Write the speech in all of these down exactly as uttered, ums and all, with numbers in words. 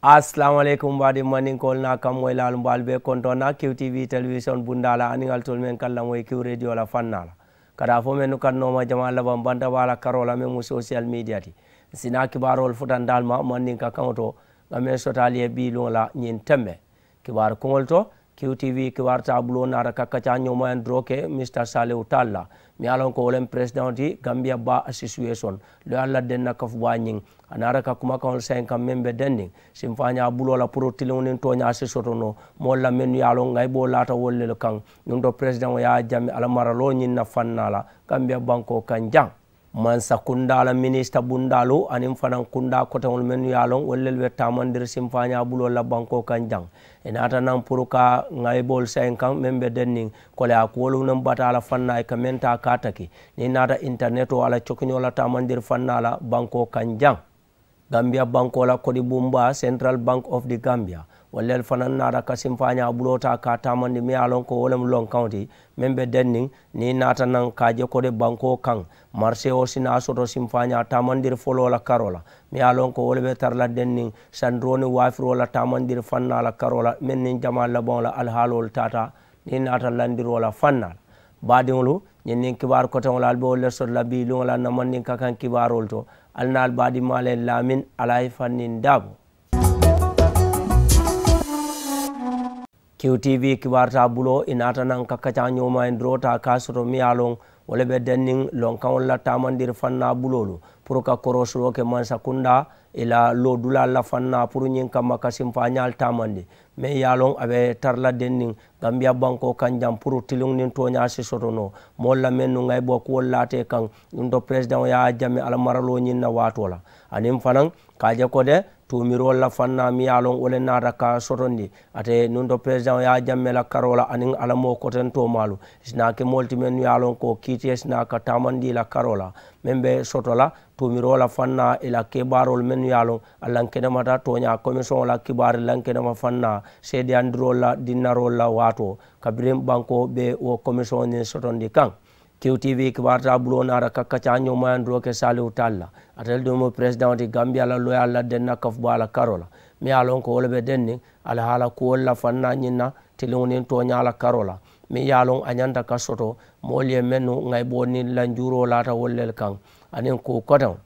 Asalaamu aleykum, mbaadi mandinkoolu naa kammoyilaalu, mbaalu be kontoŋ na kiw tv telewision bundaa la aniŋ ali tolu meŋ ka lamoyi kiw rediyo la fannaa la. Ka daa fo mennu ka nooma jamaa labaŋ banta baa la karoo la meŋ mu sosiyal midiya ti. N si naa kibaaroolu futanta ali ma mandinka kaŋo to, ŋa meŋ soto ali ye bii luŋo la ñiŋ tembe. Kibaaru kuŋolu to, kiw tv kibaaru taa buloo naata ka kaccaa ñoomayandiroo ke misita saliwu taalu la, miŋ ye a loŋ ko wo le mu peresidaŋo ti gambiya baa asisuwesoŋ, loyaalu la denna kafu baa ñiŋ. A naata ka kumakaŋolu sayiŋ kaŋ meŋ be denniŋ simfaañaa buloo la puru tiliŋo niŋ tooñaa si soto noo moolu la mennu ye a loŋ ŋayiboo laata wolu lelu kaŋ. Nuŋ to peresidaŋo ye a jammi a la maraloo ñiŋ na fannaa la gambiya bankoo kaŋ jaŋ. Mansa kundaa la minisita bundaalu aniŋ fanaŋ kundaa koteŋolu mennu ye a loŋ wolu lelu be taamandiri simfaañaa buloolu la bankoo kaŋ jaŋ. I naata naŋ puru ka ŋayiboolu sayiŋ kaŋ meŋ be denniŋ koleyaa kuwolu niŋ bataa la fannaa i ka meŋ taa ka a taki. Niŋ i naata intaneto a la cokiñoo la taamandiri fannaa la bankoo kaŋ jaŋ. Gambiya bankoo la kodi bumbaa central bank of the gambia, wolu lelu fanaŋ naata ka simfaañaa buloo taa ka a taamandi miŋ ye a loŋ ko wo le mu lonkaŋo ti meŋ be denniŋ. Niŋ i naata naŋ ka a je kodi bankoo kaŋ, mariseo si naa soto simfaañaa taamandiri foloo la karoo la miŋ ye a loŋ ko wo le be tara la denniŋ sandiroo niŋ waafiroo la taamandiri fannaa la karoo la meŋ niŋ jamaa labaŋo la alihaaloolu taata. Niŋ i naata landiroo la fannaa la baadiŋolu, ñiŋ niŋ kibaaru koteŋolu ali be wolu le soto la bii luŋo la na mandinka kaŋ kibaaroolu to. Ali naa ali baadimaa le laamin alaayi fanniŋ daabo. Kiw tv kibaaru taa buloo i naata naŋ ka kaccaa ñoomayandiroo taa ka a soto miŋ ye a loŋ wo le be denniŋ lonkaŋolu la taamandiri fannaa buloolu puru ka koroosiloo ke mansa kundaa i la loodulaalu la fannaa puru ñiŋ kamma ka simfaañaalu taamandi meŋ ye a loŋ a be tara la denniŋ gambiya bankoo kaŋ jaŋ puru tiliŋo niŋ tooñaa si soto noo moolu la mennu ŋayiboo kuwolu laata i kaŋ. Nuŋ to peresidaŋo ye a jammi a la maraloo ñiŋ na waatoo la aniŋ fanaŋ ka a je ko de tuumiroolu la fannaa miŋ ye a loŋ wo le naata ka sotondi. Ate nuŋ to peresidaŋo ye a jamme la karoo la aniŋ a la moo kotentoo maalu i si naa ke moolu ti mennu ye a loŋ ko kiitiye si naa ka taamandi i la karoo la meŋ be soto la tuumiroo la fannaa i la kebaaroolu mennu ye a loŋ a lankenemata tooñaa komisoŋo la kibaari lankenema fannaa seedeyandiroolu la dinnaroolu la waatoo kabiriŋ bankoo be wo komisoŋo niŋ sotondi kaŋ. Kiw tv kibaaru taa buloo naata ka kaccaa ñoomayandiroo ke saliwu taalu la. Ate le duŋ mu peresidaŋo ti gambiya la loyaalu la denna kafu baa la karoo la miŋ ye a loŋ ko wo le be denniŋ alihaala kuwolu la fannaa ñiŋ na tiliŋo niŋ tooñaa la karoo la miŋ ye a loŋ a ñanta ka soto moolu ye mennu ŋayiboo niŋ lanjuuroo laata wolu le kaŋ aniŋ kuu koteŋo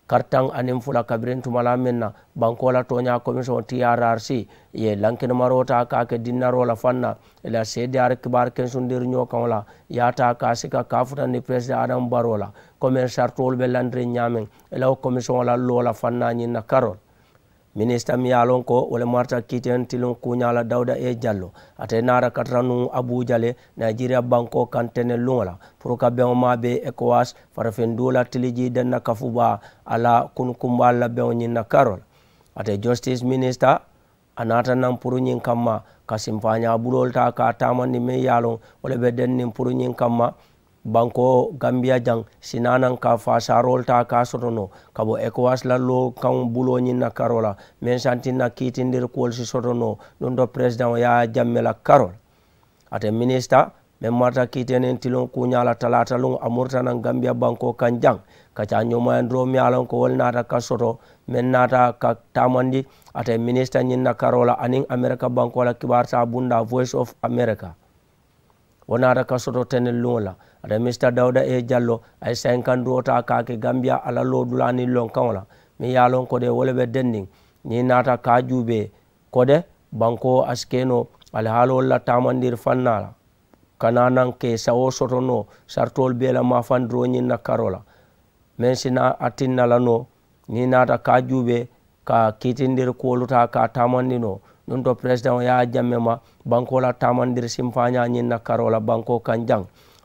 karitaŋ aniŋ fula kabiriŋ tumalaa meŋ na bankoo la tooñaa komisoŋo trrc ye lankenemaroo taa ka a ke dinnaroo la fannaa i la seediyaari kibaaru kensundiriñoo kaŋo la i ye a taa ka a sika ka a futandi peresidaŋ adamu baroo la ko meŋ saritoolu be lantiriŋ ñaameŋ i la wo komisoŋo la loo la fannaa ñiŋ na karoo la. Minisita miŋ ye a loŋ ko wo le marata kiiteŋ tiliŋ kuuñaa la dawuda e jallo ate naata ka tara nuŋ abuuja le nayijeriya bankoo kaŋ teneŋ luŋo la puru ka beŋo maa be ekowas farafinduu la tilijii denna kafu baa a la kunukumbaalu la beŋo ñiŋ na karoo la. Ate jositisi minisita a naata naŋ puru ñiŋ kamma ka simfaañaa buloolu taa ka a taamandi meŋ ye a loŋ wo le be denniŋ puru ñiŋ kamma bankoo gambiya jaŋ si naa naŋ ka faasaaroolu taa ka a soto noo ka bo ekowas la loo kaŋ buloo ñiŋ na karoo la meŋ santiŋ na kiitindiri kuwolu si soto noo nuŋ to peresidaŋo ye a jamme la karoo la. Ate minisita meŋ marata kiitee niŋ tiliŋo kuuñaa la talaata luŋo a murita naŋ gambiya bankoo kaŋ jaŋ ka caa ñoomayandiroo miŋ ye a loŋ ko wo le naata ka soto meŋ naata ka taamandi ate minisita ñiŋ na karoo la aniŋ amerika bankoo la kibaaru taa bundaa voice of amerika. Wo naata ka soto teneŋ luŋo la ate misita dawuda e jallo a ye sayinkandiroo taa ka a ke gambiya a la loodulaa niŋ lonkaŋo la meŋ ye a loŋ ko de wo le be denniŋ niŋ i naata ka a juubee ko de bankoo a si ke noo alihaaloolu la taamandiri fannaa la ka naa naŋ ka i sawoo soto noo saritoolu bee la maafandiroo ñiŋ na karoo la meŋ si naa a tinna la noo niŋ i naata ka a juubee ka kiitindiri kuwolu taa ka a taamandi noo nuŋ to peresidaŋo ye a jamme ma bankoo la taamandiri simfaañaa ñiŋ na karoo la bankoo kaŋ jaŋ.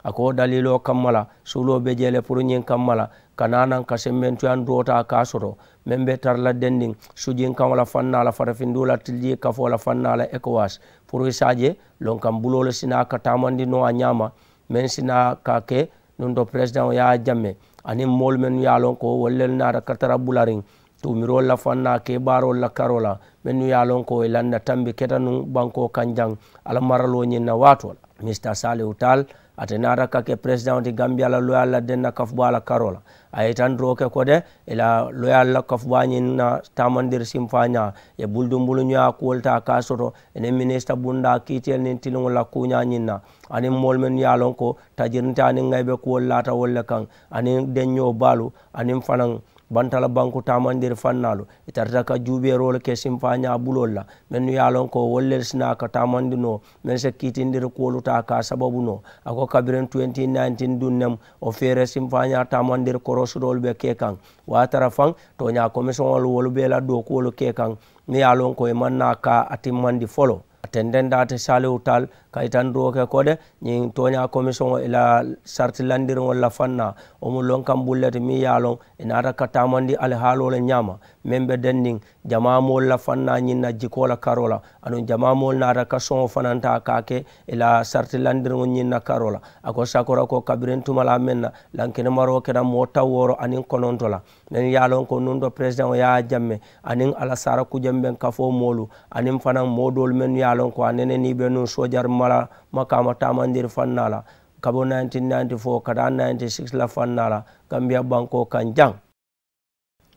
A ko wo daliiloo kamma la suuloo be jee le puru ñiŋ kamma la ka naa naŋ ka sembentuyandiroo taa ka a soto meŋ be tara la dendiŋ sujinkaŋo la fannaa la farafinduu la tilijii kafoo la fannaa la ekowas puru i se a je lonkaŋ buloolu si naa ka taamandi noo a ñaama meŋ si naa ka a ke nuŋ to peresidaŋo ye a jamme aniŋ moolu mennu ye a loŋ ko wolu lelu naata ka tara bulariŋ tuumiroolu la fannaa kebaaroolu la karoo la mennu ye a loŋ ko i landa tambi keta nuŋ bankoo kaŋ jaŋ a la maraloo ñiŋ na waatoo la. Mista saliwu taal, ate naata ka ke peresidaŋo ti gambiya la loyal la denna kafubaa la karoo la. A ye itandiroo ke ko de, i la loyal la kafubaa ñiŋ na taamandiri simfaañaa ye buludunbuluñoyaa kuwolu taa ka a soto i niŋ minisita bundaa kiitiyelu niŋ tiliŋolu la kuuñaa ñiŋ na, aniŋ moolu mennu ye a loŋ ko tajirinta aniŋ ŋayibe kuwolu laata wolu le kaŋ, aniŋ deññoo baalu, aniŋ fanaŋ bantala banku taamandiri fannaalu. I tarata ka juubeeroolu ke simfaañaa buloolu la mennu ye a loŋ ko wolu le si naa ka taamandi noo meŋ si kiitindiri kuwolu taa ka a sababu noo. A ko kabiriŋ twenty nineteen duŋ nemu wo feere simfaañaa taamandiri korosutoolu be ke kaŋ. Wo ye a tara faŋ tooñaa komisiŋolu wolu be i la dookuwolu ke kaŋ, niŋ ye a loŋ ko i maŋ naa ka a timmandi foloo. A tententa ate saliwu taal ka itandiroo ke ko de, ñiŋ tooñaa komisiŋo i la saritilandiriŋolu la fannaa wo mu lonkaŋ bulu le ti meŋ ye a loŋ i naata ka taamandi alihaaloo le ñaama meŋ be denniŋ jamaa moolu la fannaa ñiŋ na jikoo la karoo la. Aduŋ jamaa moolu naata ka soŋo fananta ka a ke i la saritilandiriŋo ñiŋ na karoo la. A ko sakora ko kabiriŋ tumalaa meŋ na lankinimaroo keta moo tawooro aniŋ kononto la, meŋ ye a loŋ ko nuŋ to peresidaŋo ye a jamme aniŋ a la saara kujembeŋ kafoo moolu aniŋ fanaŋ moo doolu mennu ye a loŋ ko a nene niŋ i be nuŋ soojari mala makaama taamandiri fannaa la kabo nineteen ninety-four ka taa ninety-six la fannaa la gambiya bankoo kaŋ jaŋ.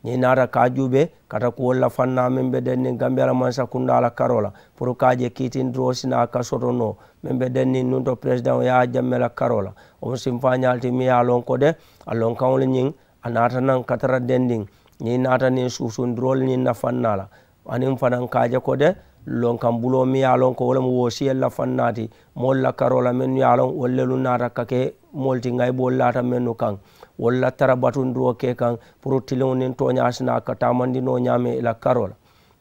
Niŋ i naata ka a juubee kata kuwolu la fannaa meŋ be denniŋ gambiya la mansakundaa la karoo la puru ka a je kiitindiroo si naa ka soto noo meŋ be denniŋ nuŋ to peresidaŋo ye a jamme la karoo la. Wo mu simfaañaalu ti meŋ ye a loŋ ko de a lonkaŋolu ñiŋ a naata naŋ ka tara dendiŋ. Niŋ i naata niŋ suusundiroolu ñiŋ na fannaa la aniŋ fanaŋ ka a je ko de lonkaŋ buloo meŋ ye a loŋ ko wo le mu woosiyelu la fannaa ti moolu la karoo la mennu ye a loŋ wolu lelu naata ka ke moolu ti ŋayiboolu laata mennu kaŋ wolu la tara batundiroo ke kaŋ puru tiliŋo niŋ tooñaa si naa ka taamandi noo ñaameŋ i la karoo la.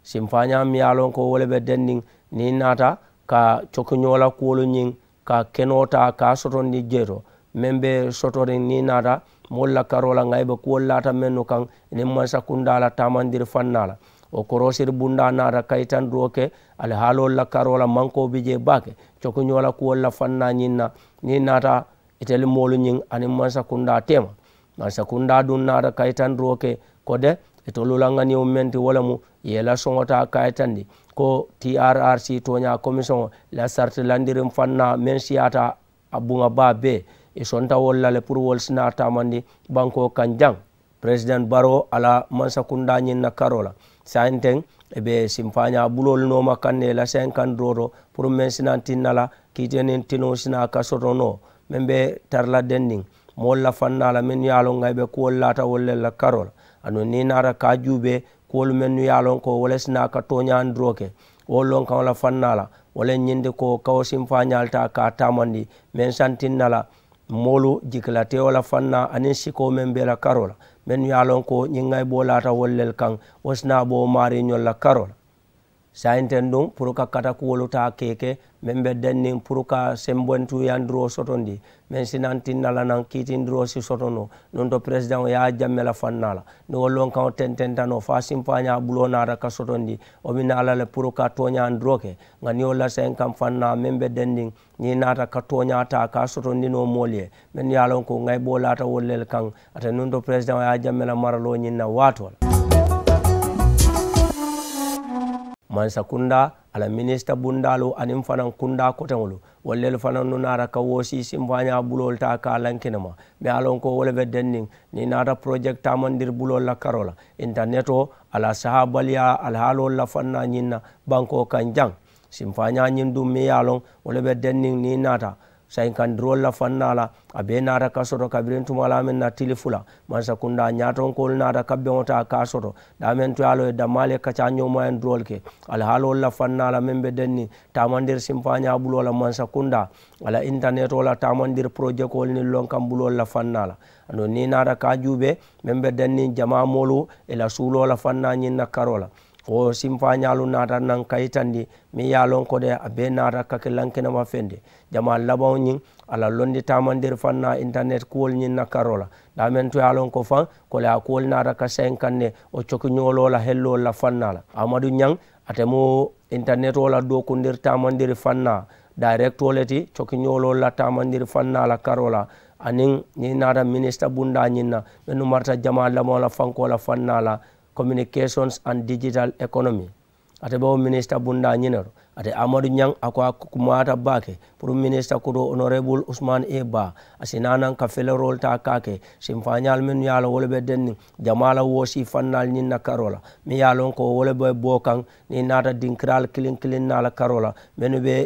Simfaañaa meŋ ye a loŋ ko wo le be denniŋ niŋ i naata ka cokiñoo la kuwolu ñiŋ ka kenoo taa ka a sotondi jee to meŋ be sotoriŋ niŋ i naata moolu la karoo la ŋayibe kuwolu laata mennu kaŋ i niŋ mansakundaa la taamandiri fannaa la. Wo koroosiri bundaa naata ka itandiroo ke alihaaloolu la karoo la mankoo bi jee baake cokiñoo la kuwolu la fannaa ñiŋ na niŋ i naata itelu moolu ñiŋ aniŋ mansakundaa teema. Mansakundaa duŋ naata ka itandiroo ke ko de itolu la ŋaniyo meŋ ti wo le mu i ye i la soŋo taa ka a yitandi ko trrc tooñaa komisiŋo la saritilandiriŋ fannaa meŋ siyaata a buŋa baa bee i sonta wolu la le puru wolu si naa taamandi bankoo kaŋ jaŋ. Peresidaŋ baroo a la mansakundaa ñiŋ na karoo la saayiŋ teŋ i be simfaañaa buloolu nooma kaŋ ne i la saayiŋ kandiroo to puru meŋ si naa tinna la kiitee niŋ tinuŋo si naa ka soto noo meŋ be tara la dendiŋ moolu la fannaa la mennu ye a loŋ ŋa i be kuwolu laata wolu le la karoo la. Aduŋ niŋ i naata ka a juubee kuwolu mennu ye a loŋ ko wo le si naa ka tooñaandiroo ke wo lonkaŋo la fannaa la wo le ñindi ko ka wo simfaañaalu taa ka a taamandi meŋ santinna la moolu jikilatewo la fannaa aniŋ sikoo meŋ be i la karoo la mennu ye a loŋ ko ñiŋ ŋa i boo laata wolu le kaŋ wo si naa bo wo maariiñolu la karoo la. Saayiŋ teŋ duŋ puru ka katakuwolu taa ka i ke meŋ be denniŋ puru ka sembentuuyandiroo sotondi meŋ si naa tinna la naŋ kiitindiroo si soto noo nuŋ to peresidaŋo ye a jamme la fannaa la. Niŋ wo lonkaŋo tententa noo fo a simfaañaa buloo naata ka sotondi wo bi naa la le puru ka tooñaandiroo ke ŋa niŋ wo la saayiŋ kaŋ fannaa meŋ be denniŋ niŋ i naata ka tooñaa taa ka a sotondi noo moolu ye mennu ye a loŋ ko ŋa i boo laata wolu le kaŋ. Ate nuŋ to peresidaŋo ye a jamme la maraloo ñiŋ na waatoo la. Mansakundaa a la minisita bundaalu aniŋ fanaŋ kundaa koteŋolu wolu lelu fanaŋ nu naata ka woosi simfaañaa buloolu taa ka a lankinema. Mee a loŋ ko wo le be denniŋ niŋ i naata porojekiti taamandiri buloolu la karoo la intanetoo a la sahaabaliyaa alihaaloolu la fannaa ñiŋ na bankoo kaŋ jaŋ. Simfaañaa ñiŋ duŋ meŋ ye a loŋ wo le be denniŋ niŋ i naata sayinkandiroolu la fannaa la a bee naata ka soto kabiriŋ tumalaa meŋ na tili fula mansakundaa ñaatonkoolu naata ka beŋo taa ka a soto daameŋ to ye a loŋ ye dammaa le kacaa ñoomayandiroolu ke alihaaloolu la fannaa la meŋ be denniŋ taamandiri simfaañaa buloo la mansakundaa a la intanetoo la taamandiri porojekoolu niŋ lonkaŋ buloolu la fannaa la. Aduŋ niŋ i naata ka a juubee meŋ be denniŋ jamaa moolu i la suuloo la fannaa ñiŋ na karoo la wo simfaañaalu naata naŋ ka yitandi meŋ ye a loŋ ko de a bee naata ka ke lankinema feŋ ti. Jamaa labaŋo ñiŋ a la londi taamandiri fannaa intanet kuwolu ñiŋ na karoo la daameŋ to ye a loŋ ko faŋ koleyaa kuwolu naata ka sayiŋ kaŋ ne wo cokiñooloo la helloolu la fannaa la amadu ñaŋ ate mu intanetoo la dookundiri taamandiri fannaa dayirekitoo le ti cokiñooloo la taamandiri fannaa la karoo la. Aniŋ niŋ i naata minisita bundaa ñiŋ na mennu marata jamaa labaŋo la fankoo la fannaa la communications and digital economy. Ate be wo minisita bundaa ñiŋ ne to Ate amadu ñaŋ a ko a kumaata baake puru minisita kutoo onorebulu usman e baa a si naanaŋ ka feleroolu taa kaake. Simfaañaalu mennu ye a la wo le be denniŋ jamaa la woosii fannaalu ñiŋ na karoo la meŋ ye a loŋ ko wo le be boo kaŋ niŋ i naata dinkiraalu kiliŋ kiliŋ naa la karoo la mennu be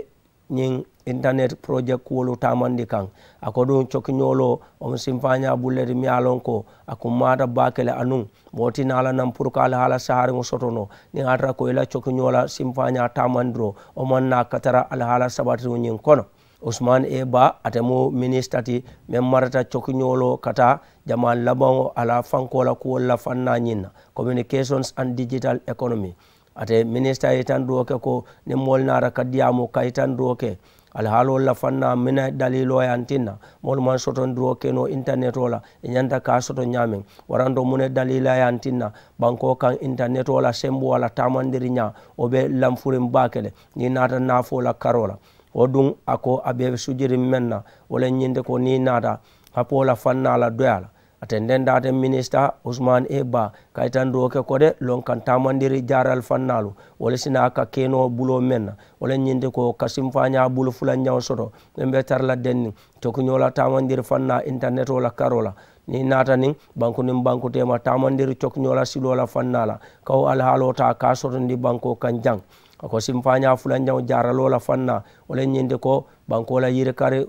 ñiŋ intanet porojekiti kuwolu taamandi kaŋ. A ko duŋ cokiñooloo wo mu simfaañaa bulu le ti meŋ ye a loŋ ko a kummaata baake le anuŋ moo ti naa la naŋ puru ka alihaala sahariŋo soto noo niŋ a tara ko i la cokiñoo la simfaañaa taamandiroo wo maŋ naa ka tara alihaala sabatiŋo ñiŋ kono. Usman e baa ate mu minisita ti meŋ marata cokiñooloo ka taa jamaa labaŋo a la fankoo la kuwolu la fannaa ñiŋ na communications and digital economy. Ate minisita ye itandiroo ke ko niŋ moolu naata ka diyaamu ka itandiroo ke alihaaloolu la fannaa mina daliiloo ye a tinna moolu maŋ sotondiroo ke noo intanetoo la i ñanta ka a soto ñaameŋ. Waranto mu ne daliila ye a tinna bankoo kaŋ intanetoo la semboo a la taamandiriñaa wo be lanfuriŋ baake le. Niŋ i naata naafoo la karoo la wo duŋ a ko a be sujiriŋ meŋ na wo le ñiŋ ti ko niŋ i naata hapoo la fannaa la doyaa la. A tendentaata minisita usman e baa ka itandiroo ke ko de loŋ kaŋ taamandiri jaaralu fannaalu wo le si naa ka keenoo buloo meŋ na wo le ñiŋ ti ko ka simfaañaa bulu fulanjaŋo soto meŋ be tara la denniŋ cokiñoo la taamandiri fannaa intanetoo la karoo la. Niŋ i naata niŋ banku niŋ banku teema taamandiri cokiñoo la siloo la fannaa la ka wo alihaaloo taa ka a sotondi bankoo kaŋ jaŋ. A ko simfaañaa fulanjaŋo jaaraloo la fannaa wo le ñiŋ ti ko bankoo la yirikari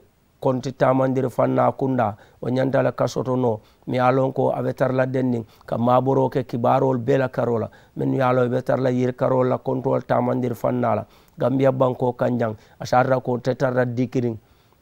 konti taamandiri fannaa kundaa wo ñanta le ka soto noo meŋ ye a loŋ ko a be tara la denniŋ ka maaboroo ke kibaaroolu bee la karoo la mennu ye a loŋ i be tara la yirikaroolu la kontoolu taamandiri fannaa la gambiya bankoo kaŋ jaŋ. A saatara ko te tara la dikiriŋ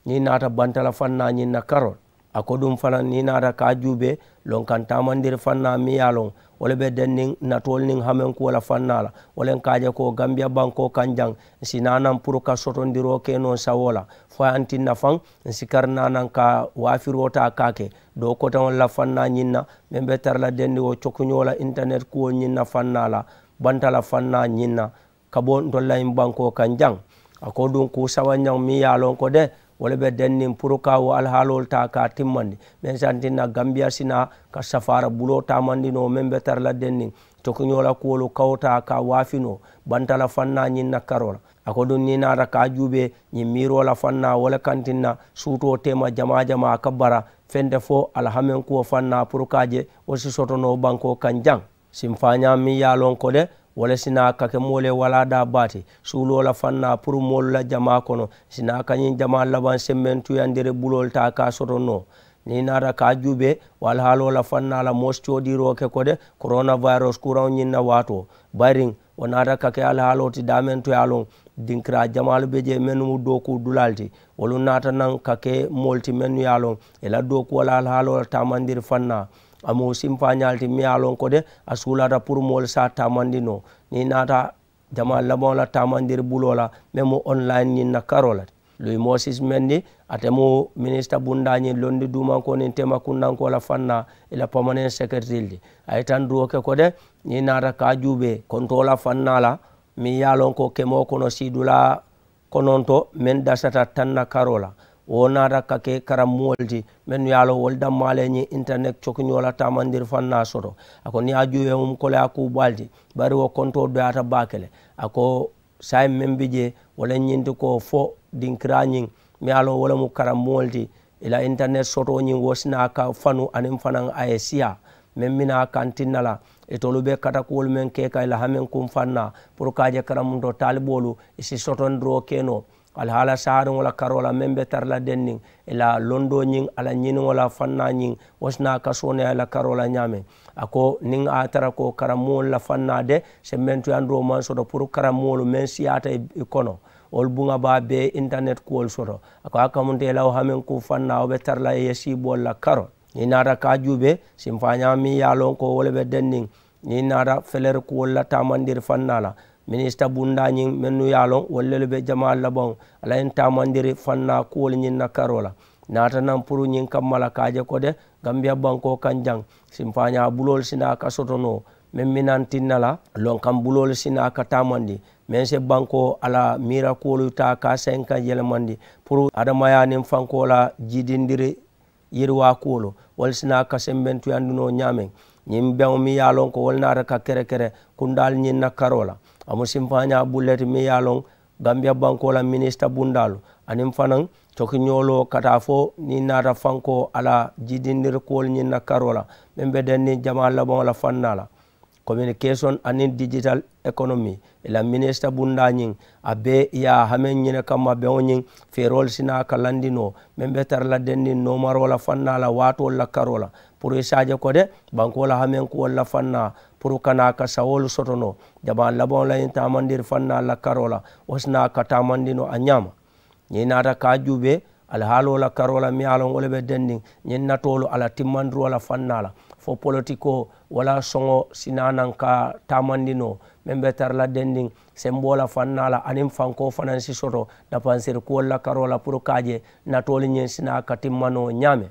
niŋ i naata bantala fannaa ñiŋ na karoo la. A ko duŋ fanaŋ niŋ i naata ka a juubee loŋ kaŋ taamandiri fannaa meŋ ye a loŋ wo le be denniŋ natoolu niŋ hamenkuwo la fannaa la wo le n ka a je ko gambiya bankoo kaŋ jaŋ n si naanaŋ puru ka sotondiroo ke noo n sawoo la fo ye a tinna faŋ n si kari naanaŋ ka waafiroo taa ka a ke doo koteŋolu la fannaa ñiŋ na meŋ be tara la dendiŋo cokiñoo la intanet kuwo ñiŋ na fannaa la bantala fannaa ñiŋ na ka bo ntolu la ñiŋ bankoo kaŋ jaŋ. A ko duŋ kuu sabanjaŋo meŋ ye a loŋ ko de wo le be denniŋ puru ka wo alihaaloolu taa ka a timmandi meŋ si a tinna gambiya si naa ka safaara buloo taamandi noo meŋ be tara la denniŋ cokiñoo la kuwolu ka wo taa ka a waafi noo bantala fannaa ñiŋ na karoo la. A ko duŋ niŋ i naata ka a juubee ñiŋ miiroo la fannaa wo le kaŋ tinna suutoo teema jamaa jamaa a ka bara fente fo alihamenkuwo fannaa puru ka a je wo si soto noo bankoo kaŋ jaŋ. Simfaañaa meŋ ye a loŋ ko de wo le si naa ka ke moolu ye walaadaa baa ti suuloo la fannaa puru moolu la jamaa kono si naa ka ñiŋ jamaa labaŋ semmentuyandiri buloolu taa ka a soto noo. Niŋ i naata ka a juubee wo alihaaloo la fannaa la moo si coodiiroo ke ko de korona vayirosi kuraŋo ñiŋ na waatoo bayiriŋ wo naata ka ke alihaaloo ti daameŋ to ye a loŋ dinkiraa jamaalu be jee mennu mu dookuu dulaalu ti wolu naata naŋ ka ke moolu ti mennu ye a loŋ i la dookuwo la alihaaloo la taamandiri fannaa. A mu simfaañaalu ti meŋ ye a loŋ ko de a suulaata puru moolu se a taamandi noo niŋ i naata jamaa labaŋo la taamandiri buloo la meŋ mu onlayin ñiŋ na karoo la ti. Luwi moosis mendi ate mu minisita bundaa ñiŋ londi duumankoo niŋ teema kundankoo la fannaa i la pamaneŋ sekeretiri ti. A ye tanduwo ke ko de niŋ i naata ka a juubee kontoo la fannaa la meŋ ye a loŋ ko kemoo kono siidulaa kononto meŋ dasata taŋ na karoo la wo naata ka ke karammoolu ti mennu ye a loŋ wolu dammaa le ñiŋ intanet cokiñoo la taamandiri fannaa soto. A ko niŋ ye a juubee mu koleyaa kuu baalu ti bari wo kontoo doyaata baake le. A ko saayiŋ meŋ bi jee wo le ñiŋ ti ko fo dinkiraa ñiŋ meŋ ye a loŋ wo le mu karammoolu ti i la intanet sotoo ñiŋ wo si naa ka fanu aniŋ fanaŋ a ye siyaa meŋ bi naa kaŋ tinna la itolu be katakuwolu meŋ ke ka i la hamenkuŋ fannaa puru ka a je karamuntoo taaliboolu i si sotondiroo ke noo alihaala sahariŋo la karoo la meŋ be tara la denniŋ i la londoo ñiŋ a la ñiniŋo la fannaa ñiŋ wo si naa ka sooneyaa i la karoo la ñaameŋ. A ko niŋ a ye a tara ko karammoolu la fannaa de sembentuyandiroo maŋ soto puru karammoolu meŋ siyaata i kono wolu buŋa baa bee intanet kuwolu soto. A ko a kamunta i la wo hamenkuŋ fannaa wo be tara la i ye siiboolu la karoo niŋ i naata ka a juubee simfaañaa meŋ ye a loŋ ko wo le be denniŋ niŋ i naata feleri kuwolu la taamandiri fannaa la minisita bundaa ñiŋ mennu ye a loŋ wolu lelu be jamaa labaŋo a la ñiŋ taamandiri fannaa kuwolu ñiŋ na karoo la. Naata naŋ puru ñiŋ kamma la ka a je ko de gambiya bankoo kaŋ jaŋ simfaañaa buloolu si naa ka soto noo meŋ minaŋ tinna la lonkaŋ buloolu si naa ka taamandi meŋ si bankoo a la miira kuwolu taa ka a sayiŋ ka yelemandi puru adamayaa niŋ fankoo la jiidindiri yiriwaa kuwolu wolu si naa ka sembentuyandi noo ñaameŋ. Ñiŋ beŋo meŋ ye a loŋ ko wolu naata ka kerekere kundaalu ñiŋ na karoo la a mu simfaañaa bulu le ti meŋ ye a loŋ Gambiya bankoo la minisita bundaalu aniŋ fanaŋ cokiñooloo ka taa fo niŋ naata fankoo a la jiidindiri kuwolu ñiŋ na karoo la meŋ be denniŋ jamaa labaŋo la fannaa la. Communication aniŋ digital economy i la minisita bundaa ñiŋ a bee i ye a hameŋ ñine kamma beŋo ñiŋ feeroolu si naa ka landi noo meŋ be tara la denniŋ noomaroo la fannaa la waatoolu la karoo la puru i si a je ko de bankoo la hameŋ kuwolu la fannaa puru ka naa ka sawoolu soto noo jamaa labaŋo la ñiŋ taamandiri fannaa la karoo la wo si naa ka taamandi noo a ñaama. Niŋ i naata ka a juubee alihaaloo la karoo la miŋ ye a loŋ wo le be denniŋ ñiŋ natoolu a la timmandiroo la fannaa la fo politikoo walla soŋo si naa naŋ ka taamandi noo meŋ be tara la denniŋ semboo la fannaa la aniŋ fankoo fanaŋ si soto napansiri kuwolu la karoo la puru ka a je natoolu ñiŋ si naa ka timma noo ñaameŋ.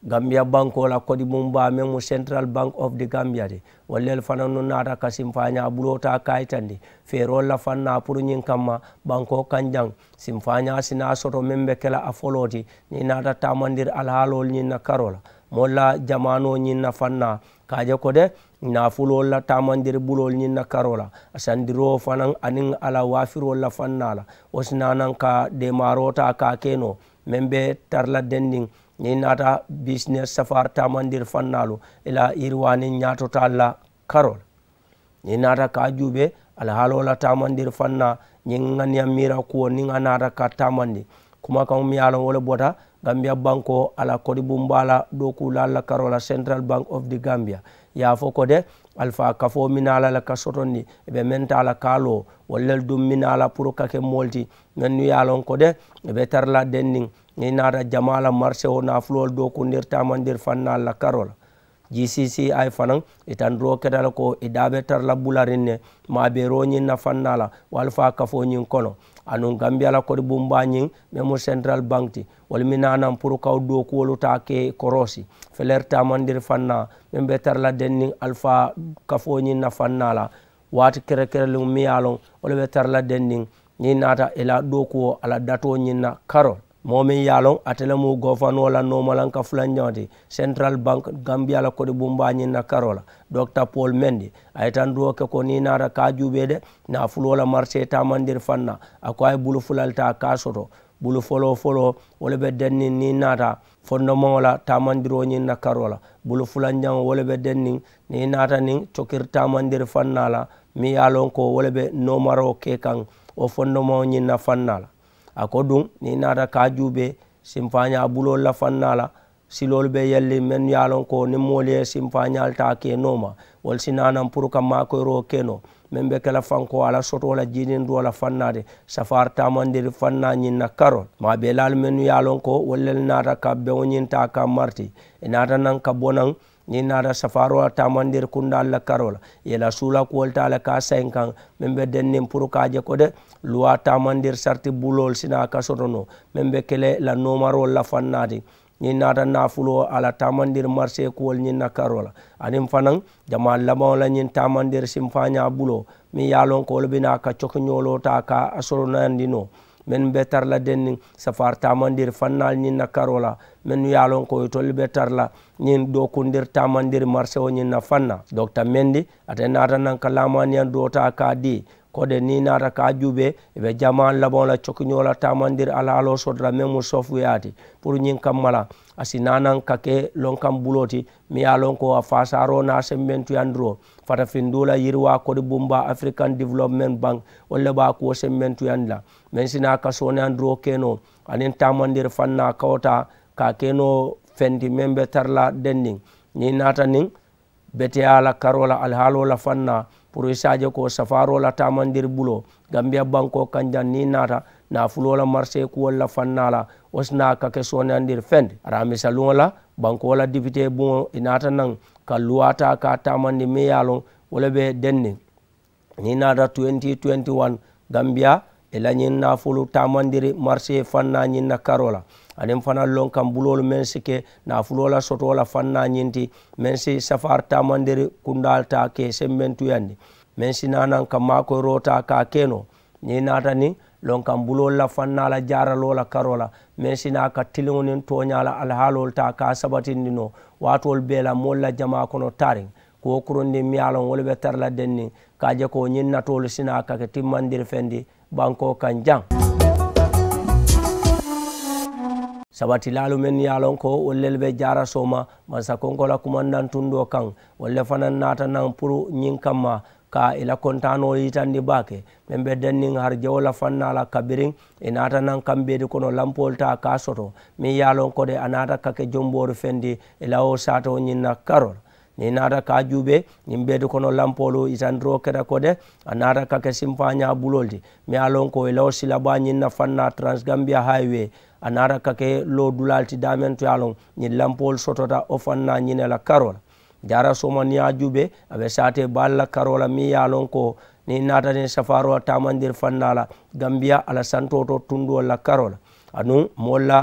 Gambiya bankoo la kodibuŋ baa meŋ mu central bank of the gambia ti wolu le fanannu naata ka simfaañaa buloo taa ka a yitandi feeroolu la fannaa puru ñiŋ kamma bankoo kaŋ jaŋ simfaañaa si naa soto meŋ be ke la a foloo ti niŋ i naata taamandiri alihaaloolu ñiŋ na karoo la moolu la jamaanoo ñiŋ na fannaa ka a je ko de naafuloolu la taamandiri buloolu ñiŋ na karoo la a sandiroo fanaŋ aniŋ a la waafiroolu la fannaa la wo si naa naŋ ka deemaaroo taa ka a ke noo meŋ be tara la dendiŋ niŋ i naata bisinesi safaari taamandiri fannaalu i la yiriwaaniŋ ñaatotaalu la karoo la. Niŋ i naata ka a juubee alihaaloo la taamandiri fannaa ñiŋ ŋaniya miira kuwo niŋ a naata ka taamandi kumakaŋo miŋ ye a loŋ wo le bota gambiya bankoo a la kodibuŋ baa la dookuulaalu la karoo la central bank of the gambia i ye a fo ko de alifaa kafoo miŋ naa la le ka sotondi i be meŋ taa la ka a loo wolu le duŋ miŋ naa la puru ka ke moolu ti mennu ye a loŋ ko de i be tara la dendiŋ niŋ i naata jamaa la marisewoo naafuloolu dookuundiri taamandiri fannaalu la karoo la. G C C I fanaŋ i tandiroo keta le ko i daa be tara la bulariŋ ne maabeeroo ñiŋ na fannaa la wo alifaa kafoo ñiŋ kono anuŋ gambiya la kodi bumbaa ñiŋ meŋ mu central bank ti wolu mi naanaŋ puru kawo dookuwolu taa ke koroosi feleri taamandiri fannaa meŋ be tara la denniŋ alifaa kafoo ñiŋ na fannaa la waati kerekereluŋ miŋ ye a loŋ wo le be tara la denniŋ niŋ i naata i la dookuwo a la datoo ñiŋ na karoo la moo meŋ ye a loŋ ate le mu gofanoo la noomalanka fulanjaŋo ti central bank gambiya la kodi bumbaa ñiŋ na karoo la dokita paul mendi a ye tandiroo ke ko niŋ i naata ka a juubee de naafuloo la marisee taamandiri fannaa a ko a ye bulu fula le taa ka a soto bulu foloo foloo wo le be denniŋ niŋ i naata fondomaŋo la taamandiroo ñiŋ na karoo la bulu fulanjaŋo wo le be denniŋ niŋ i naata niŋ cokiri taamandiri fannaa la meŋ ye a loŋ ko wo le be noomaroo ke kaŋ wo fondomaŋo ñiŋ na fannaa la a ko duŋ niŋ i naata ka a juubee simfaañaa buloolu la fannaa la siloolu be yelliŋ mennu ye a loŋ ko niŋ moolu ye simfaañaalu taa ke nooma wolu si naanaŋ puru ka maakoyiroo ke noo meŋ be ke la fankoo a la sotoo la jiinindiroo la fannaa ti safaari taamandiri fannaa ñiŋ na karoo maabeelaalu mennu ye a loŋ ko wolu le naata ka beŋo ñiŋ taa ka mariti i naata naŋ ka bo naŋ niŋ i naata safaaroo la taamandiri kundaalu la karoo la i ye la suula kuwolu taa le ka a sayiŋ kaŋ meŋ be denniŋ puru ka a je ko de luwaa taamandiri sariti buloolu si naa ka soto noo meŋ be ke le la noomaroolu la fannaa ti niŋ i naata naafuloo a la taamandiri marisee kuwolu ñiŋ na karoo la aniŋ fanaŋ jamaa labaŋo la ñiŋ taamandiri simfaañaa buloo meŋ ye a loŋ ko wolu bi naa ka cokiñooloo taa ka a soronayandi noo mennu be tara la denniŋ safaari taamandiri fannaalu ñiŋ na karoo la mennu ye a loŋ ko itolu be tara la ñiŋ dookundiri taamandiri marisewo ñiŋ na fannaa dokita mendi ate naata naŋ ka laamaaniyaŋ doo taa ka a dii ko de niŋ i naata ka a juubee i be jamaa labaŋo la cokiñoo la taamandiri alihaaloo soto la meŋ mu sofuyaa ti puru ñiŋ kamma la a si naanaŋ ka ke lonkaŋ buloo ti meŋ ye a loŋ ko a faasaaroo niŋ a sembentuyandiroo fatafinduu la yiriwaa kodi bumbaa african development bank wolu le be a kuwo sembentuyandi la meŋ si naa ka sooneyandiroo ke noo aniŋ taamandiri fannaa kawo taa ka a ke noo feŋ ti meŋ be tara la denniŋ niŋ i naata niŋ beteyaa la karoo la alihaaloo la fannaa puru i si a je ko safaaroo la taamandiri buloo gambiya bankoo kaŋ jaŋ niŋ i naata naafuloo la marisee kuwolu la fannaa la wo si naa ka ke sooneyandiri feŋ ti araamisa luŋo la bankoo la dipitee buŋo i naata naŋ ka luwaa taa ka a taamandi meŋ ye a loŋ wo le be denniŋ niŋ i naata twenty twenty one gambiya i la ñiŋ naafulu taamandiri marisee fannaa ñiŋ na karoo la aniŋ fanaŋ loŋ kaŋ buloolu meŋ si ke naafuloo la sotoo la fannaa ñiŋ ti meŋ si safaari taamandiri kundaalu taa ka i sembentuyandi meŋ si naanaŋ ka maakoyiroo taa ka a ke noo niŋ i naata niŋ loŋ kaŋ buloolu la fannaa la jaaraloo la karoo la meŋ si naa ka tiliŋo niŋ tooñaa la alihaaloolu taa ka a sabatindi noo waatoolu bee la moolu la jamaa kono taariŋ Kuwo kurundiŋ meŋ ye a loŋ wolu be tara la denniŋ ka a je ko ñiŋ natoolu si naa ka ke timmandiri fendi bankoo kaŋ jaŋ. Sabatilaalu mennu ye a loŋ ko wolu lelu be jaara sooma mansakonko la kumandaŋ tundoo kaŋ, wolu le fanaŋ naata naŋ puru ñiŋ kamma ka i la kontaanoo yitandi baake. Meŋ be denniŋ harijewo la fannaa la kabiriŋ i naata naŋ kambeedi kono lampoolu taa ka a soto meŋ ye a loŋ ko de a naata ka ke jomboori fendi i la wo saatoo ñiŋ na karoo la. Niŋ i naata ka a juubee ñiŋ beedi kono lampoolu yitandiroo keta ko de a naata ka ke simpaañaa buloolu ti meŋ ye a loŋ ko i la wo silabaa ñiŋ na fannaa transgambiya hayiwee a naata ka ke loo dulaalu ti daameŋ to ye a loŋ ñiŋ lampoolu sotota wo fannaa ñiŋ ne la karoo la. Jaara sooma niŋ i ye a juubee a be saatee baalu la karoo la meŋ ye a loŋ ko niŋ i naata niŋ safaaroo la taamandiri fannaa la gambiya a la santoo to tundoolu la karoo la aduŋ moolu la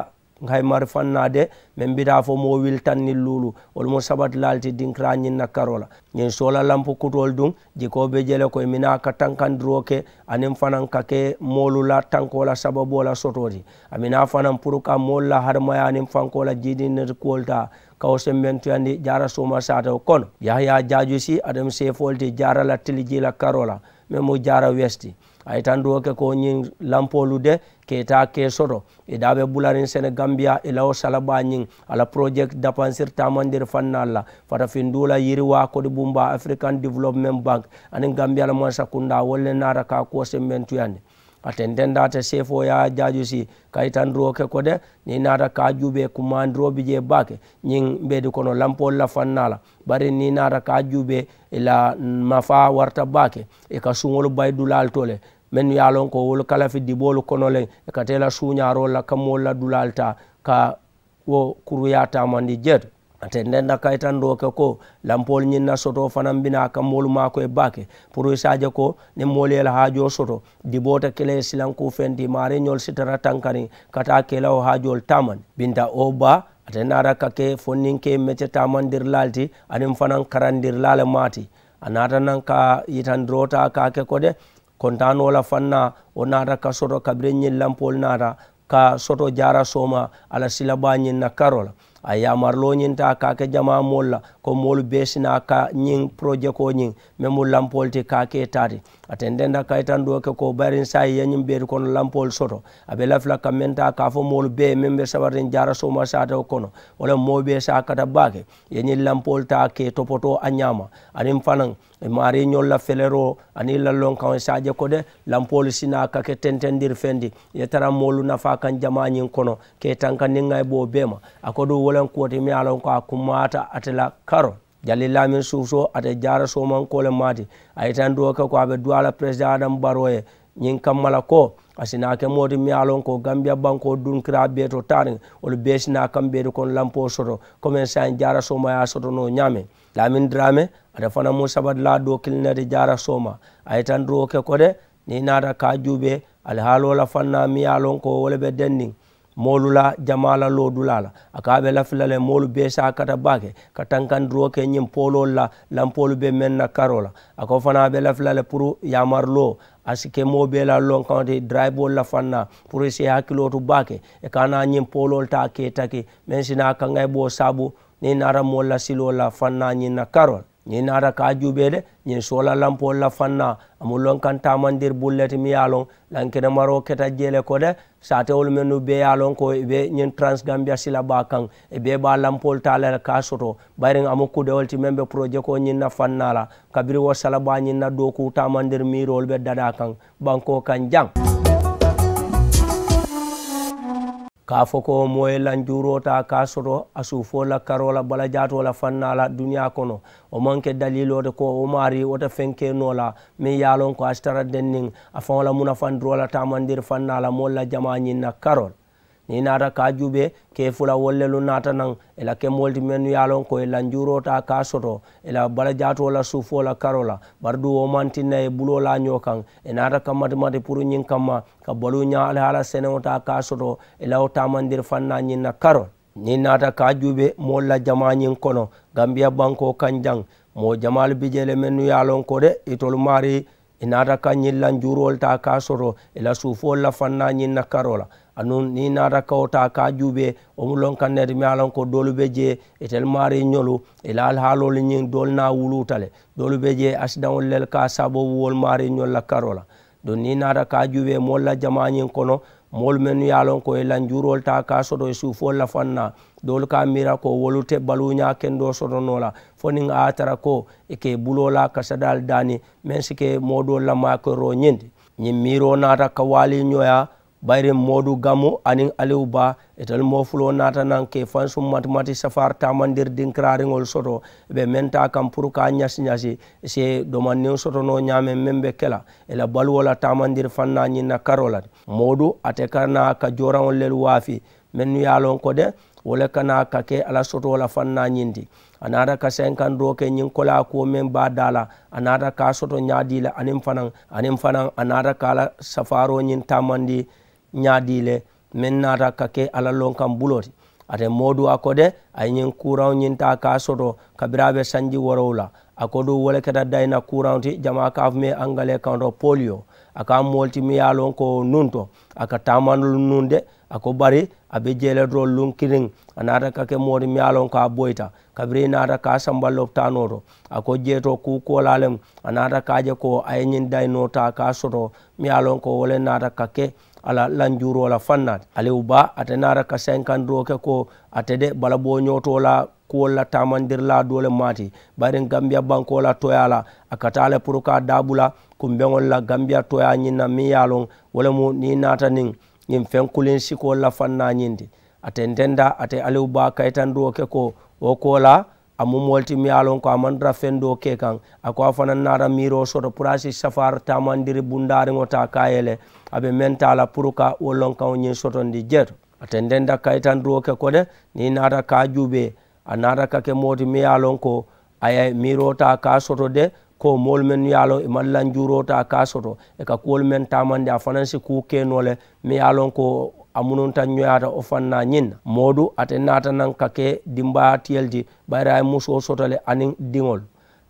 hayimari fannaa de meŋ bi taa fo moo wili taŋ niŋ luulu wolu mu sabatilaalu ti dinkiraa ñiŋ na karoo la. Ñiŋ soola lampu kutoolu duŋ jikoo be je le ko i minaa ka tankandiroo ke aniŋ fanaŋ ka ke moolu la tankoo la sababoo la sotoo ti. A minaa fanaŋ puru ka moolu la hadamayaa niŋ fankoo la jiidindirikuwolu taa ka wo sembentuyandi jaara sooma saatoo kono. Yahaya jaajusi ate mu seefoolu ti jaara la tilijii la karoo la meŋ mu jaara wesiti. A ye tantuwo ke ko ñiŋ lampoolu de ka i taa ka i soto i daa be bulariŋ senegambiya i la wo salabaa ñiŋ a la porojekiti dapansiri taamandiri fannaalu la fatafinduu la yiriwaa kodi bumbaa afirikan development bank aniŋ gambiya la mansakundaa wolu le naata ka a kuwo sembentuyandi. A tentendaata seefoo ye a jaajusi ka yitandiroo ke ko de niŋ i naata ka a juubee kumaandiroo bi jee baake ñiŋ mbeedi kono lampoolu la fannaa la. Bari niŋ i naata ka a juubee i la mafaa warata baake i ka suŋolu bayi dulaalu to le mennu ye a loŋ ko wolu kalafi diboolu kono le i ka tee la suuñaaroolu la ka moolu la dulaalu taa ka wo kuruyaa taamandi jee to. A tendenta kayitandoo ke ko lampoolu ñiŋ na sotoo fanaŋ bi naa ka moolu maakoyi baake puru i se a je ko niŋ moolu ye i la haajoo soto diboo te ke la ye silankuu feŋ ti maariiñoolu si tara tankariŋ ka taa ka i la wo haajoolu taamandi. Binta oba ate naata ka ke fonninkee mece taamandirilaalu ti aniŋ fanaŋ karandirilaa le maa ti. A naata naŋ ka yitandiroo taa ka a ke ko de kontaanoo la fannaa wo naata ka soto kabiriŋ ñiŋ lampoolu naata ka soto jaara sooma a la silabaa ñiŋ na karoo la. A ye yaamariloo ñiŋ taa ka a ke jamaa moolu la ko moolu bee si naa ka ñiŋ porojekoo ñiŋ meŋ mu lampoolu ti ka a ke taa ti. A tendenta kayitandoo ke ko bayiriŋ saayiŋ i ye ñiŋ beeri kono lampoolu soto a be lafi la ka meŋ taa ka a fo moolu bee meŋ be sabariŋ jaara sooma saatewo kono wo le moo bee se a kata baake i ye ñiŋ lampoolu taa ka i topotoo a ñaama. Aniŋ fanaŋ i maariiñolu la feleroo aniŋ i la lonkaŋo i se a je ko de lampoolu si naa ka ke tentendiri feŋ ti i ye tara moolu nafaa kaŋ jamaa ñiŋ kono ka i tanka niŋ ŋa i boo bee ma. A ko duŋ wo le kuwo ti meŋ ye a loŋ ko a kummaata ate la karo jali laamin suusoo ate jaara soomankoo le maa ti. A ye tanduwo ke ko a be duwaa la peresidaŋ adamu baroo ye ñiŋ kamma la ko a si naa ke moo ti meŋ ye a loŋ ko gambiya bankoo dunkiraa bee to taariŋ wolu bee si naa kaŋ beeri kono lampoo soto komeŋ saayiŋ jaara sooma ye a soto noo ñaameŋ. Laamin diraame ate fanaŋ mu sabadilaa doo kiliŋ ne ti jaara sooma. A ye tanduwo ke ko de niŋ i naata ka a juubee alihaaloo la fannaa meŋ ye a loŋ ko wo le be denniŋ moolu la jamaa la loodulaa la a ko a be lafi la le moolu bee se a kata baake ka tankandiroo ke ñiŋ pooloolu la lampoolu be meŋ na karoo la. A ko fanaa a be lafi la le puru yaamariloo a si ke moo bee la lonkaŋo ti darayiboolu la fannaa puru i si i hakiloo tu baake i ka a naa ñiŋ pooloolu taa ka i taki meŋ si naa kaŋayiboo saabu niŋ i naata moolu la siloo la fannaa ñiŋ na karoo la. Niŋ i naata ka a juubee de ñiŋ soola lampoolu la fannaa a mu lonkaŋ taamandiri bulu le ti miŋ ye a loŋ lankenemaroo keta jee le ko de saatewolu mennu bee ye a loŋ ko i be ñiŋ taransigambiya silabaa kaŋ i bee be a lampoolu taa la le ka a soto. Bayiriŋ a mu kudewolu ti meŋ be porojekoo ñiŋ na fannaa la kabiriŋ wo salabaa ñiŋ na dookuu taamandiri miiroolu be dadaa kaŋ bankoo kaŋ jaŋ. Ka a fo ko moo ye lanjuuroo taa ka a soto a suufoo la karoo la balajaatoo la fannaa la duniyaa kono. Wo maŋ ke daliiloo ti ko wo maarii wo te feŋ ke noo la meŋ ye a loŋ ko a si tara denniŋ a faŋo la munafandiroo la taamandiri fannaa la moolu la jamaa ñiŋ na karoo la. Niŋ i naata ka a juubee kee fula wolu lelu naata naŋ i la ke moolu ti mennu ye a loŋ ko i lanjuuroo taa ka a soto i la balajaatoo la suufoo la karoo la. Bari duŋ wo maŋ tinna i ye buloo laa ñoo kaŋ i naata ka matimati puru ñiŋ kamma ka baluuñaa alihaala seneŋo taa ka a soto i la wo taamandiri fannaa ñiŋ na karoo la. Niŋ i naata ka a juubee moolu la jamaa ñiŋ kono gambiya bankoo kaŋ jaŋ moo jamaalu bi jee le mennu ye a loŋ ko de itolu maarii i naata ka ñiŋ lanjuuroolu taa ka a soto i la suufoolu la fannaa ñiŋ na karoo la. Aduŋ niŋ i naata kawo taa ka a juubee, wo mu lonkaŋ ne ti meŋ ye a loŋ ko doolu be jee. Itelu maariiñolu, i la alihaaloolu ñiŋ doolu naa wuluuta le. Doolu be jee asidaŋolu le ka a saaboo wolu maariiñolu la karoo la. Duŋ niŋ i naata ka a juubee moolu la jamaa ñiŋ kono, moolu mennu ye a loŋ ko i ye lanjuuroolu taa ka a soto i suufoolu la faŋ na, doolu ka a miira ko wolu te baluuñaa kendoo soto noo la, fo niŋ a ye a tara ko i ka i buloo la kasadaalu daani, meŋ si ke moo doolu la maakoroo ñiŋ ti. Ñiŋ miiroo naata ka waalii ñooyaa. Bayiriŋ moodu gamu aniŋ aliwu baa, itelu moo fuloo naata naŋ ka i fansuŋ matimati safaari taamandiri dinkiraariŋolu soto. I be meŋ taa kaŋ puru ka a ñasi ñasi, i si domandiŋo soto noo ñaameŋ meŋ be ke la i la baluwo la taamandiri faŋ naa ñiŋ na karoo la. Moodu ate ka naa ka jooraŋolu lelu waafi, mennu ye a loŋ ko de wo le ka naa ka ke a la sotoo la faŋ naa ñiŋ ti. A naata ka senkandoo ke ñiŋ koleyaa kuwo meŋ be a daa la, a naata ka a soto ñaadii le aniŋ fanaŋ, aniŋ fanaŋ a naata ka a la safaaroo ñiŋ taamandi ñaadii le, meŋ naata ka ke a la lonkaŋ buloo ti. Ate moodu a ko de, a ye ñiŋ kuuraŋo ñiŋ taa ka a soto kabiriŋ a be sanji woorowula. A ko duŋ wo le keta dayina kuuraŋo ti jamaa ka a fo meŋ ye angalee kaŋo to poliyo. A ka a moolu ti meŋ ye a loŋ ko nuŋ to a ka taamandolu nuŋ de. A ko bari a be jee le doroŋ luŋ kiliŋ, a naata ka ke moo ti meŋ ye a loŋ ko a boyita kabiriŋ i naata ka a samba lopitaanoo to. A ko jee to kuu koolaa lemu, a naata ka a je ko a ye ñiŋ dayinoo taa ka a soto meŋ ye a loŋ ko wo le naata ka ke a la lanjuuroo la faŋ naa ti. Aliwu baa ate naata ka senkandiroo ke ko ate de balabooñootoo la kuwolu la taamandirilaa doo le maati. Bayiriŋ gambiya bankoo la tooyaa la, a ka taa le puru ka a daabula kumbeŋolu la gambiya tooyaa ñiŋ na meŋ ye a loŋ wo le mu niŋ i naata niŋ ñiŋ feŋ kuliŋ sikoolu la faŋ naa ñiŋ ti. A tententa ate aliwu baa kayitandiroo ke ko wo koolaa a mu moolu ti meŋ ye a loŋ ko a maŋ tara feŋ doo ke kaŋ. A ko a fanaŋ naata miiroo soto puru a si safaari taamandiri bundaariŋo taa ka a yele a be meŋ taa la puru ka wo lonkaŋo ñiŋ sotondi jee to. A tententa kayitandiroo ke ko de niŋ i naata ka a juubee, a naata ka ke moo ti meŋ ye a loŋ ko a ye miiroo taa ka a soto de ko moolu mennu ye a loŋ i maŋ lanjuuroo taa ka a soto, i ka kuwolu meŋ taamandi a fanaŋ si kuu ke noo le meŋ ye a loŋ ko a mununta ñoyaata wo faŋ naa ñiŋ na. Moodu ate naata naŋ ka ke dimbayaa tiyelu ti, bayiri a ye musoo soto le aniŋ diŋolu.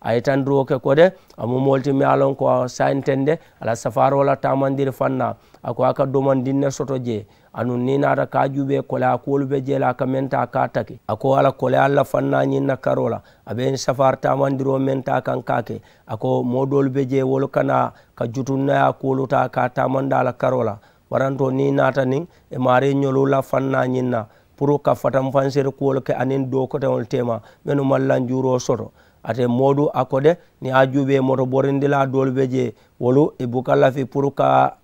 A ye tandiroo ke ko de a mu moolu ti meŋ ye a loŋ ko a sayinteŋ de a la safaaroo la taamandiri faŋ naa. A ko a ka domandiŋ ne soto jee. Aduŋ niŋ i naata ka a juubee koleyaa kuwolu be jee le a ka meŋ taa ka a taki a ko a la koleyaalu la faŋ naa ñiŋ na karoo la. A be ñiŋ safaari taamandiroo meŋ taa kaŋ ka a ke a ko moo doolu be jee wolu ka naa ka jutunnayaa kuwolu taa ka a taamandi a la karoo la. Warantoo niŋ i naata niŋ i maariiñolu la faŋ naa ñiŋ na puru ka fatanfansiri kuwolu ke aniŋ dookoteŋolu teema mennu maŋ lanjuuroo soto. Ate moodu a ko de niŋ i ye a juubee moto borindilaa doolu be jee wolu i buka lafi puru ka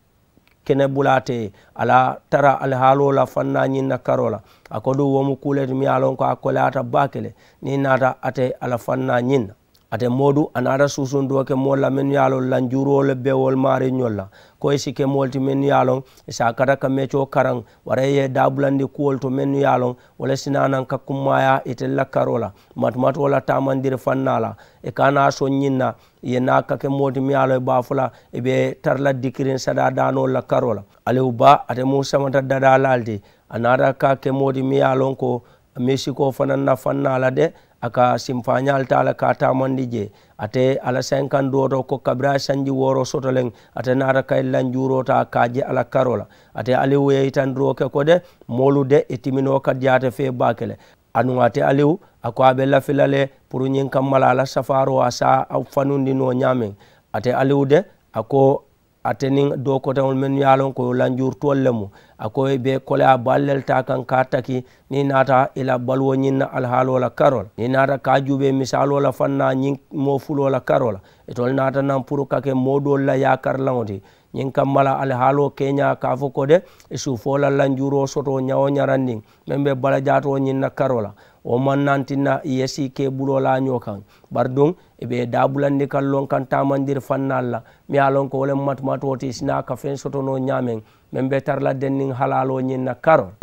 kene bula a te ye a la tara alihaaloo la faŋ naa ñiŋ na karoo la. A ko duŋ wo mu kuu le ti meŋ ye a loŋ ko a koleyaata baake le niŋ i naata ate a la faŋ naa ñiŋ na. Ate moodu a naata suusuŋ doo ke moolu la mennu ye a loŋ lanjuuroo le be wolu maariiñolu la ko i si ke moolu ti mennu ye a loŋ i si a kata ka mecoo karaŋ waraŋ i ye i daabulandi kuwolu to mennu ye a loŋ wo le si naa naŋ ka kummaayaa itelu la karoo la matumatoo la taamandiri faŋ naa la. I ka a naa soŋ ñiŋ na i ye naa ka ke moo ti meŋ ye a loŋ i be a fo la i be tara la dikiriŋ sadaa daanoolu la karoo la. Aliwu baa ate mu samata dadaa laalu ti. A naata ka ke moo ti meŋ ye a loŋ ko miisikoo fanaŋ na faŋ naa la de a ka simfaañaalu taa le ka a taamandi jee. Ate a la senkandiroo to ko kabiriŋ a ye sanji wooroo soto leŋ ate naata ka i lanjuuroo taa ka a je a la karoo la. Ate aliwu ye yitandiroo ke ko de moolu de i timinoo ka diyaate fee baake le. Aduŋ ate aliwu a ko a be lafi la le puru ñiŋ kamma la a la safaaroo a si a fanundi noo ñaameŋ. Ate aliwu de a ko ate niŋ dookoteŋolu mennu ye a loŋ ko lanjuurutoolu le mu a ko i be koleyaa baalu le taa kaŋ ka a taki niŋ i naata i la baluwo ñiŋ na alihaaloo la karoo la niŋ i naata ka a juubee misaaloo la faŋ naa ñiŋ moo fuloo la karoo la. Itolu naata naŋ puru ka ke moo doolu la yaakarilaŋo ti. Ñiŋ kamma la alihaaloo keeñaa ka a fo ko de i suufoo la lanjuuroo sotoo ñawo ñarandiŋ meŋ be balajaatoo ñiŋ na karoo la. Wo maŋ naa tinna i ye sii ke i buloo laa ñoo kaŋ. Bari duŋ i be i daabulandi ka loŋ kaŋ taamandiri fannaalu la meŋ ye a loŋ ko wo le mu matumatoo ti i si naa ka feŋ soto noo ñaameŋ meŋ be tara la denniŋ halaaloo ñiŋ na karoo la.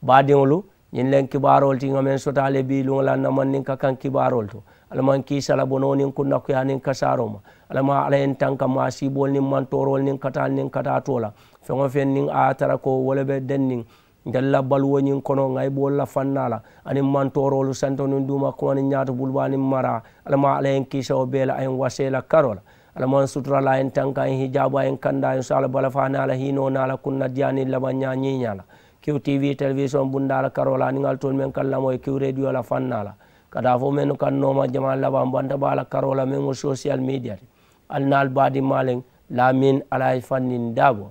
Baadiŋolu, ñiŋ leŋ kibaaroolu ti ŋa meŋ soto a le bii luŋo la namandiŋ ka kaŋ kibaaroolu to. Alla maŋ kiisa la bonoo niŋ kunnakuyaa niŋ kasaaroo ma. Alla maŋ alla ye n tanka maa siiboolu niŋ mantooroolu niŋ kataa niŋ kataa too la. Feŋ wo feŋ niŋ a ye a tara ko wo le be denniŋ ntelu la baluwo ñiŋ kono ŋayiboolu la fannaa la aniŋ mantooroolu santo niŋ duuma kuma niŋ ñaatu bulubaa niŋ maraa. Alla maŋ alla ye n kiisa wo bee la a ye n wasee la karoo la. Alla maŋ sutura la a ye n tanka a ye n hijaabu a ye n kanda a ye n so a la balafa naa la hiinoo naa la kunnadiyaa niŋ labaŋ ñaa ñiiñaa la. Kiw tv telewisoŋ bundaa la karoo la aniŋ ali toolu meŋ ka n lamoo ye kiw rediyo la faŋ naa la ka taa fo mennu ka n nooma jamaa labaŋ banta baa la karoo la meŋ mu sosiyal midiya ti. Ali naa ali baadimaa leŋ laamin ali a ye fanniŋ daabo.